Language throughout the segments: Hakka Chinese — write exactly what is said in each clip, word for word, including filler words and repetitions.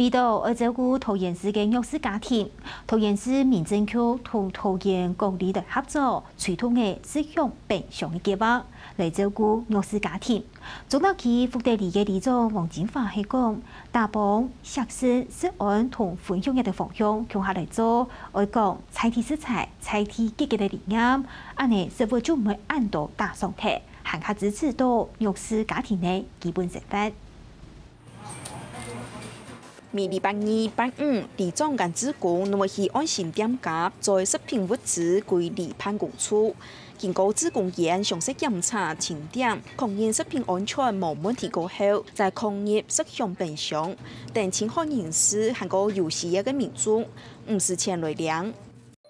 為著愛照顧桃園市个弱勢家庭，桃園市民政局同桃園管理局合作，推動个食享便當个計畫，來照顧弱勢家庭。中壢區福德里个里長黃金華係講，打幫、惜食、食安同分享个方向共下來做，愛講在地食材、在地解決个理念，恁呢食物就毋會恁多打爽忒，還較支持到弱勢家庭个基本生活。 每禮拜二、拜五，里長佮志工攏會去安心店家，將食品物資歸里辦公處。經過志工員詳細檢查、清點，確認食品安全無問題過後，再放入食享便當，等清寒人士還過有需要个民眾，毋使錢來領。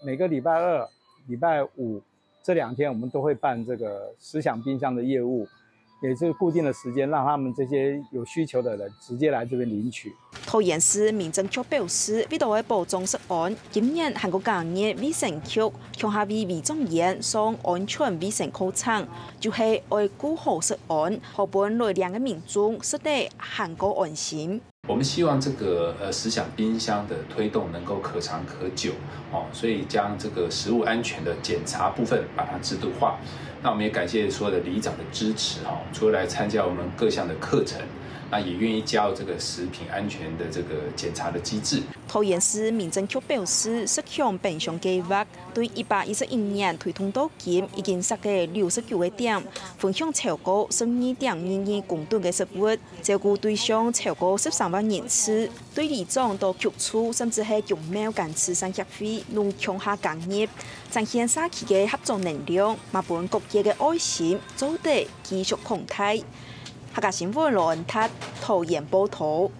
每個禮拜二、禮拜五這兩天，我們都會辦這個食享冰箱的業務。 也是固定的時間，讓他們這些有需求的人直接來這邊領取。桃園市民政局表示，為著愛保障食安，今年還過加入衛生局，共下為里長員上安全衛生課程，就係愛顧好食安，好分來領个民眾食得還過安心。 我們希望這個呃食享冰箱的推動能夠可長可久哦，所以將這個食物安全的檢查部分把它制度化。那我們也感謝所有的里長的支持哦，除了來參加我們各項的課程，那也願意加入這個食品安全的這個檢查的機制。桃園市民政局表示，食享便當計畫對一百一十一年推動到今，已經設計六十九個點，分享超過十二點二二公噸个食物。 照顧對象超過十三萬人次，對里長到局處，甚至係公廟佮慈善協會，攏共下加入，展現社區个合作能量，嘛分各界个愛心做得繼續擴大。客家新聞羅恩達，桃園報導。